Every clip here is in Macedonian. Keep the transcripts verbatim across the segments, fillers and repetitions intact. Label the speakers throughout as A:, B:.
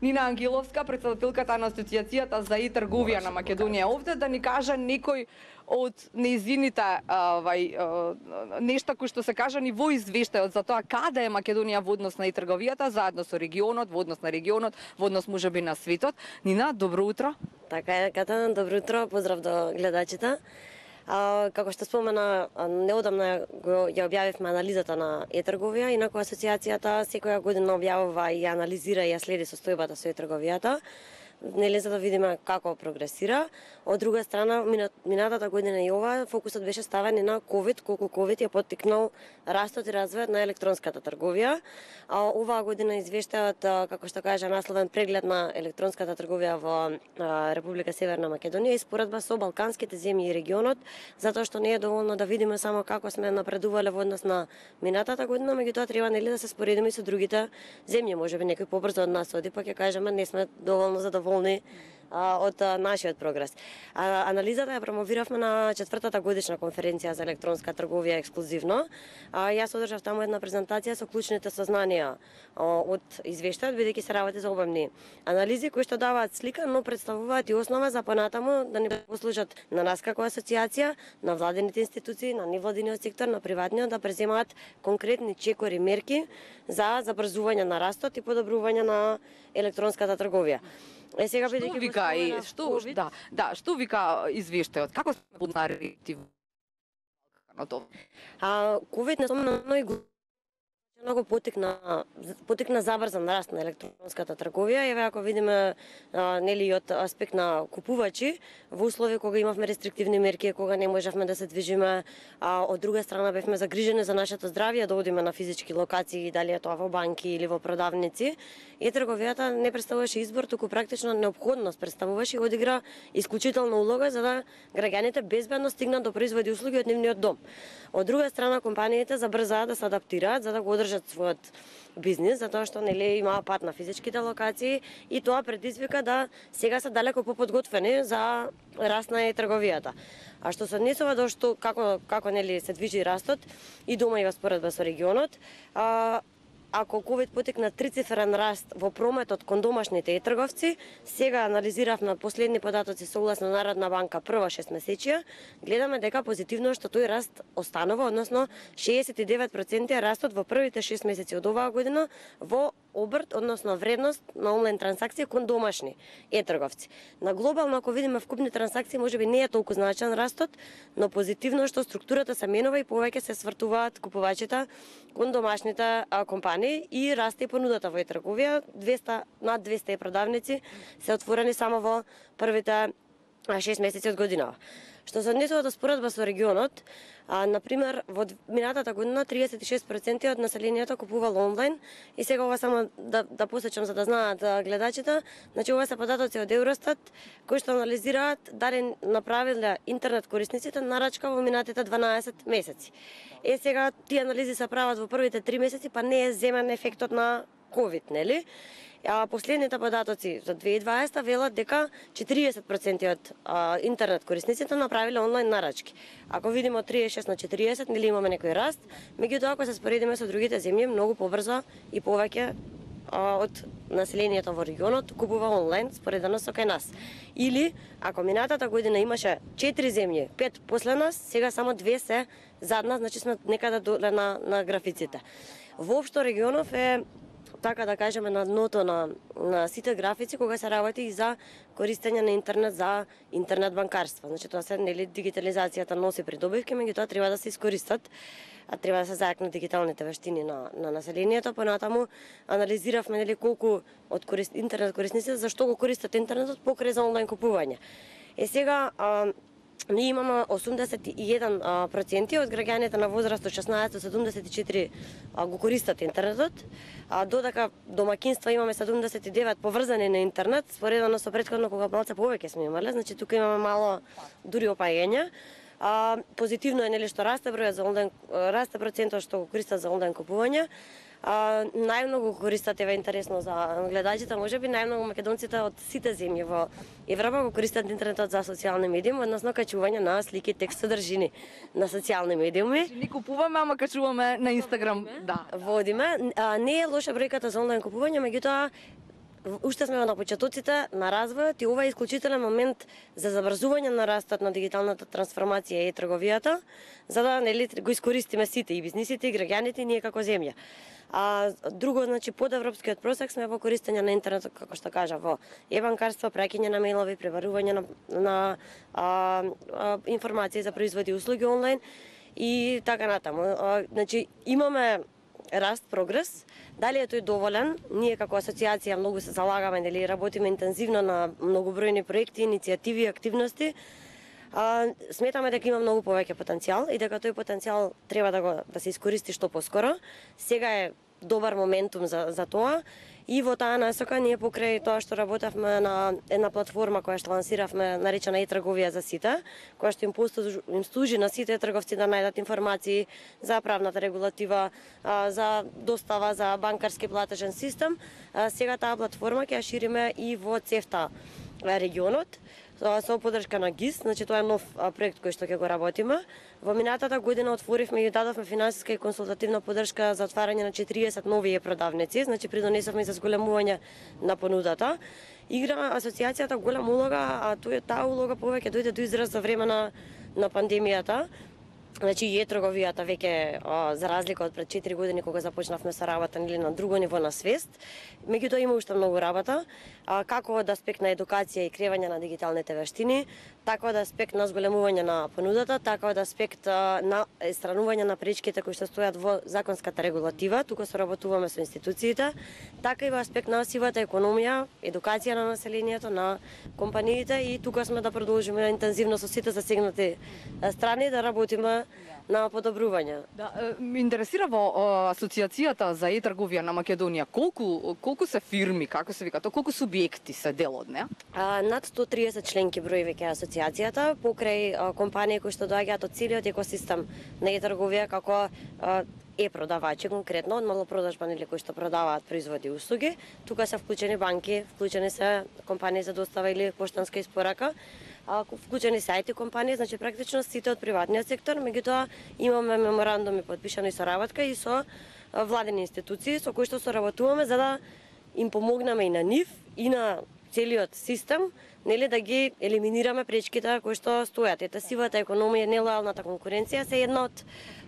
A: Нина Ангеловска, председателката на Асоциацијата за и-трговија на Македонија, овде да ни кажа некој од неизините овај нешта кои што се кажани во извештајот за тоа каде е Македонија во однос на и-трговијата, заедно со регионот, во однос на регионот, во однос можеби на светот. Нина, добро утро.
B: Така е, Катана, добро утро, поздрав до гледачите. А, како што спомена, неодамна го ја објавивме анализата на е-трговија, инаку асоциацијата секоја година објавува и анализира и ја следи состојбата со е-трговијата, нели за да видиме како прогресира. Од друга страна, минатата година и ова фокусот беше ставен и на ковид, колку ковид ја поттикнал растот и развојот на електронската трговија. А оваа година извештајот, како што кажа, насловен преглед на електронската трговија во Република Северна Македонија и споредба со балканските земји и регионот, затоа што не е доволно да видиме само како сме напредувале во однос на минатата година, меѓутоа треба нели да се споредиме и со другите земји, можеби некој побрзо од нас оди, пак ќе кажеме не сме доволно задоволни од нашиот прогрес. А, анализата ја промовиравме на четвртата годишна конференција за електронска трговија ексклузивно. А, јас одржав таму една презентација со клучните сознанија од извештајот, бидејќи се работи за обемни анализи кои што даваат слика, но представуваат и основа за понатаму да ни послужат на нас како асоциација, на владените институции, на невладиниот сектор, на приватниот да преземаат конкретни чекори мерки за забрзување на растот и подобрување на електронската трговија. Е сега
A: што вика и што да, да, што вика извештајот? Како се подна реактивно на тоа?
B: А ковид не спомна и многу потикна потикна забрзан раст на електронската трговија. Еве ако видиме а, нели од аспект на купувачи во услови кога имавме рестриктивни мерки, кога не можевме да се движиме, а од друга страна бевме загрижени за нашето здравје да одиме на физички локации, дали е тоа во банки или во продавници. И трговијата не представуваше избор, туку практично неопходност представуваше и одигра исклучителна улога за да граѓаните безбедно стигнат до производи и услуги од нивниот дом. Од друга страна компаниите забрзаа да се адаптираат за да го одржат својот бизнис, затоа што нели имаа пат на физичките локации и тоа предизвика да сега се далеко поподготвени за раст на трговијата. А што се однесува до што како како нели се движи растот и дома и во споредба со регионот, а, ако ковид потекна трицифрен раст во прометот кон домашните е-трговци, сега анализиравме последни податоци согласно Народна банка прва шестмесечија, гледаме дека позитивно што тој раст останува, односно шеесет и девет проценти растот во првите шест месеци од оваа година во обрт, односно вредност на онлайн трансакции кон домашни е-трговци. На глобално, ако видиме вкупни трансакции, можеби не е толку значаен растот, но позитивно што структурата се менува и повеќе се свртуваат купувачите кон домашните а, компании и расте и понудата во е-трговија. двесте над двесте продавници се отворени само во првите шест месеци од годинава. Што се однесува до споредба со регионот, а, например, во минатата година триесет и шест проценти од населението купувало онлайн и сега ова само да, да посечам за да знаат гледачите, значи ова се податоци од Евростат кои што анализираат дали направиле интернет корисниците нарачка во минатите дванаесет месеци. Е сега тие анализи се прават во првите три месеци, па не е земен ефектот на ковид, нели? А последните податоци за две илјади и дваесета велат дека четириесет проценти од а, интернет корисниците направиле онлайн нарачки. Ако видиме од триесет и шест на четириесет, нели имаме некој раст, меѓутоа ако се споредиме со другите земји, многу побрзо и повеќе а, од населението во регионот купува онлайн споредено со кај нас. Или ако минатата година имаше четири земји, пет после нас, сега само две се зад нас, значи сме некаде доле на, на графиците. Воопшто регионов е така да кажеме на дното на, на сите графици кога се работи и за користење на интернет за интернет банкарство. Значи тоа се нели дигитализацијата носи придобивки, меѓутоа треба да се искористат, а треба да се зајакнат дигиталните вештини на, на населението. Понатаму анализиравме нели колку од корист, интернет корисниците зашто го користат интернетот покрај за онлайн купување. Е сега а, ние имаме осумдесет и еден проценти од граѓаните на возраст од шеснаесет до седумдесет и четири го користат интернетот, а додека домакинства имаме седумдесет и девет поврзани на интернет, споредено со претходно кога малце повеќе сме имале, значи тука имаме мало дури опаѓање. А, позитивно е нели што расте бројот за онлайн, расте процентот што го користат за онлайн купување. А, најмногу користат, ева интересно за гледачите, можеби најмногу македонците од сите земји во Европа го користат интернетот за социјални медиуми, односно качување на слики, текст, содржини на социјални медиуми.
A: Не купуваме, ама качуваме на Инстаграм, да.
B: Водиме. А, не е лоша бројката за онлайн купување, меѓутоа уште сме на почетоците на развојот и ова е исклучителен момент за забрзување на растот на дигиталната трансформација и трговијата, за да нели го искористиме сите и бизнисите и граѓаните и ние како земја. А друго, значи под европскиот просек сме во користење на интернет, како што кажа, во е-банкарство, праќање на мејлови, преварување на, на а, а, информации за производи и услуги онлайн и така натаму. А, значи имаме раст, прогрес. Дали е тој доволен? Ние како асоциација многу се залагаме, нели работиме интензивно на многобројни проекти, иницијативи, активности. А, сметаме дека има многу повеќе потенцијал и дека тој потенцијал треба да го да се искористи што поскоро. Сега е добар моментум за за тоа. И во таа насока ние покрај тоа што работевме на една платформа која што лансиравме наречена e-трговија за сите, која што им послужи, им служи на сите трговци да најдат информации за правната регулатива, за достава, за банкарски платежен систем. Сега таа платформа ќе ја шириме и во ЦЕФТА регионот со поддршка на ГИС, значи тоа е нов проект кој што ќе го работиме. Во минатата година отворивме и дадовме финансиска и консултативна поддршка за отварање на четириесет нови продавници, значи придонесовме и за зголемување на понудата. Игра асоциацијата голема улога, а тој таа улога повеќе дојде до израз за време на на пандемијата. Значи и е-трговијата веќе за разлика од пред четири години кога започнавме со работа или на друго ниво на свест, меѓутоа има уште многу работа, а, како од аспект на едукација и креање на дигиталните вештини, така од аспект на зголемување на понудата, така од аспект а, на странување на пречките кои што стојат во законската регулатива, тука соработуваме со институциите, така и во аспект на сивата економија, едукација на населението, на компаниите и тука сме да продолжиме интензивно со сите засегнати страни да работиме на подобрување.
A: Да, ме интересира во асоциацијата за е-трговија на Македонија, колку колку се фирми, како се вика, тоа колку субјекти се дел од неа?
B: А, над сто триесет членки брои веќе асоциацијата, покрај а, компании кои што доаѓаат од целиот екосистем на е-трговија, како а, е-продавачи конкретно, од малопродажба или кои што продаваат производи и услуги. Тука се вклучени банки, вклучени се компании за достава или поштанска испорака, вклучени се ај ти компании, значи практично сите од приватниот сектор, меѓутоа имаме меморандуми подпишани со работка и со владени институции со кои што соработуваме за да им помогнеме и на нив и на целиот систем, нели да ги елиминираме пречките кои што стојат. Ете сивата економија, нелојалната конкуренција се една од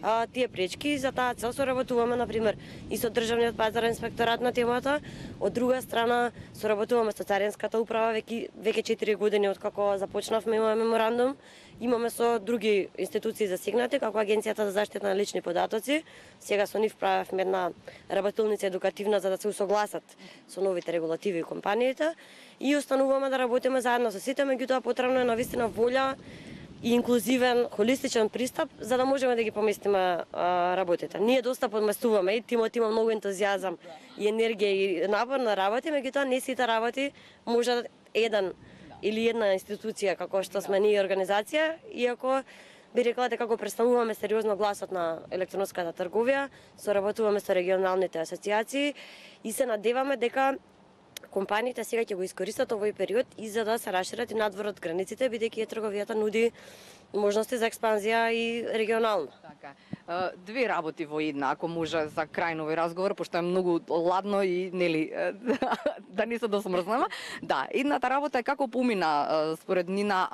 B: а, тие пречки и за таа цел соработуваме на пример и со државниот пазарен инспекторат на темата. Од друга страна соработуваме со царинската управа веќе веќе четири години откако започнавме имаме меморандум. Имаме со други институции засегнати, како Агенцијата за заштита на лични податоци. Сега со нив правевме една работилница едукативна за да се усогласат со новите регулативи и компаниите и остануваме да работиме заедно со сите, меѓутоа потребно е навистина волја и инклузивен, холистичен пристап за да можеме да ги поместиме а, работите. Ние доста подместуваме и тимот има многу ентузијазам и енергија и напор на работи, меѓутоа не сите работи можат еден или една институција како што сме ние организација, иако би рекла дека го представуваме сериозно гласот на електронската трговија, соработуваме со регионалните асоциации и се надеваме дека компаниите сега ќе го искористат овој период и за да се расшират и надвор од границите, бидејќи трговијата нуди можности за експанзија и регионално.
A: Така. Две работи во една, ако може за крај на овој разговор, пошто е многу ладно и нели да не се досмрзнеме. Да, едната работа е како помина според Нина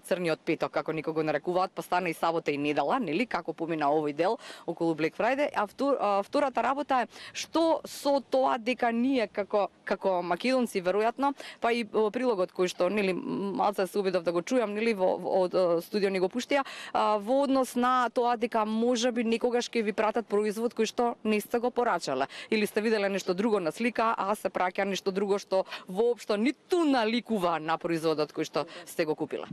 A: црниот петок, како никога го нарекуваат, па стана и сабота и недела, нели, како помина овој дел околу Black Friday, а втор, втората работа е што со тоа дека ние како како македонци веројатно, па и прилогот кој што нели малце се обидов да го чујам, нели во од студио ни го пуштија, во однос на тоа дека можеби некогаш ќе ви пратат производ кој што не сте го порачале или сте виделе нешто друго на слика, а се праќа нешто друго што воопшто ниту наликува на производот кој што сте го купила.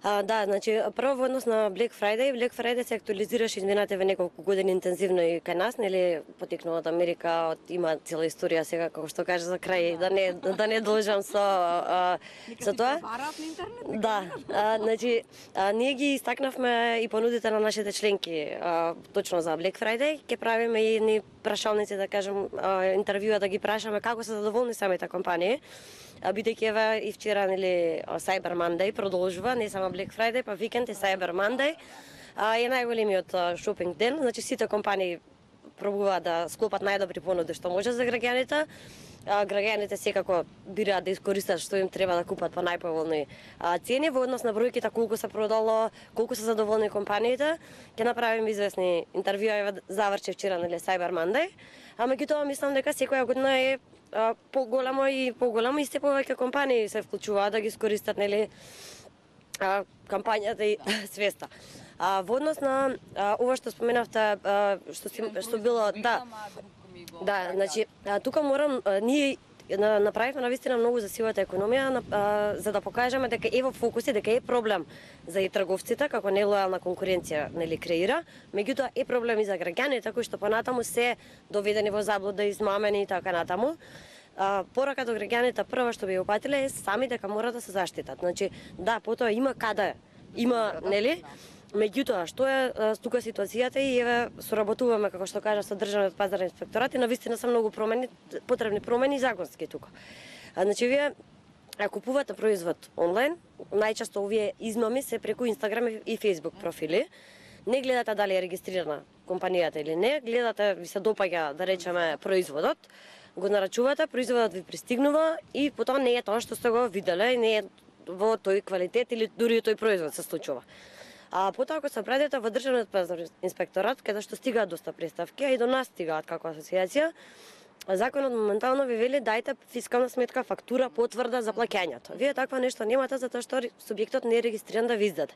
B: А, да, значи прво во однос на Black Friday, Black Friday се актуализираше изминативе неколку години интензивно и кај нас, нели потекнува од Америка, од има цела историја сега како што каже за крај да не да не должам со а, со тоа. Да, а, значи а, ние ги истакнавме и понудите на нашите членки а, точно за Black Friday, ќе правиме и едни прашалници да кажем а, интервјуа да ги прашаме како се задоволни самите компании. Бидејќи еве и вчера нели Cyber Monday продолжува, не само Black Friday, па викенд и Cyber Monday. А, е најголемиот шопинг ден, значи сите компании пробуваат да склопат најдобри понуди што може за граѓаните. граѓаните секако бираат да искористат што им треба да купат по најповолни цени во однос на бројките колку се продало, колку се задоволни компаниите. Ќе направиме известни интервјуи, заврши вчера нели Cyber Monday. А меѓутоа мислам дека секоја година е поголемо и поголемо и се повеќе компании се вклучуваат да ги искористат нели кампањата и свеста. А во однос на а, ова што споменавте, а, што си, што било, да. Да, значи тука морам а, ние направивме навистина многу за сивата економија, а, за да покажеме дека е во фокус и дека е проблем за и трговците како нелојална конкуренција нели креира, меѓутоа е проблем и за граѓаните кои што понатаму се доведени во заблуда, измамени и така натаму. А, порака до граѓаните прва што би упатиле е сами дека мора да се заштитат. Значи, да, потоа има каде, има, нели? Меѓутоа, што е а, тука ситуацијата и еве соработуваме како што кажа со државниот пазарен инспекторат и навистина се многу промени, потребни промени законски тука. А, значи вие а купувате производ онлайн, најчесто овие измами се преку Инстаграм и Фејсбук профили. Не гледате дали е регистрирана компанијата или не, гледате ви се допаѓа да речеме производот, го нарачувате, производот ви пристигнува и потоа не е тоа што сте го виделе, не е во тој квалитет или дури тој производ се случува. А потоа ако се обратите во државниот пазарен инспекторат, каде што стигаат доста представки, а и до нас стигаат како асоциација, законот моментално ви вели дајте фискална сметка, фактура, потврда за плаќањето. Вие таква нешто немате затоа што субјектот не е регистриран да ви издаде.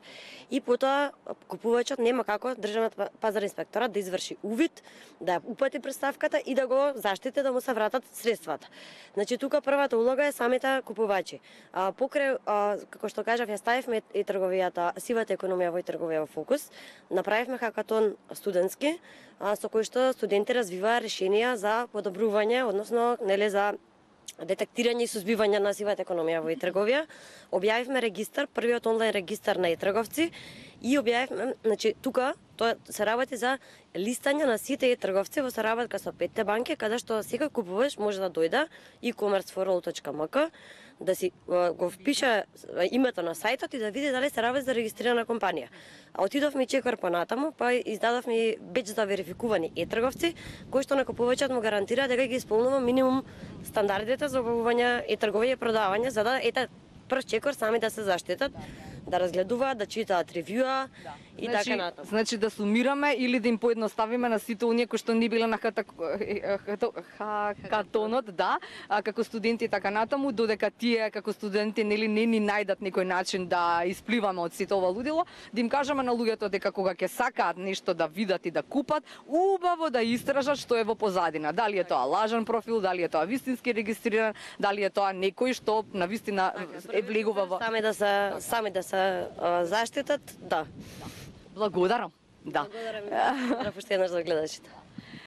B: И потоа купувачот нема како државниот пазарен инспекторат да изврши увид, да ја упати представката и да го заштити да му се вратат средствата. Значи тука првата улога е самите купувачи. А покрај а, како што кажав, ја ставивме и трговијата, сивата економија во и трговија во фокус. Направивме хакатон студентски, а, со кој што студенти развиваа решенија за подобрување, односно нели за детектирање и сузбивање на сивата економија во и трговија. Објавивме регистар, првиот онлайн регистар на и трговци и објавивме, значи тука тоа се работи за листање на сите и трговци во соработка со петте банки, каде што секој купувач може да дојде e-commerce for all точка m k, да си го впише името на сајтот и да види дали се работи за регистрирана компанија. А отидовме и чекор понатаму, па издадовме и беџ за верификувани е-трговци, кои што на купувачот му гарантира дека ги исполнува минимум стандардите за обавување и трговија и продавање, за да ете прв чекор сами да се заштитат, да разгледуваат, да читаат ревјуа да. И
A: значи,
B: така натаму.
A: Значи да сумираме или да им поедноставиме на сите оние кои што не биле на хата, хакатонот, да, а како студенти така натаму, додека тие како студенти нели не ни најдат некој начин да испливаме од сите ова лудило, да им кажеме на луѓето дека кога ќе сакаат нешто да видат и да купат, убаво да истражат што е во позадина. Дали е тоа лажен профил, дали е тоа вистински регистриран, дали е тоа некој што навистина е влегува во
B: сами да се сами да се заштитат, да.
A: Благодарам. Да.
B: Благодарам. Да, пуштено за гледачите.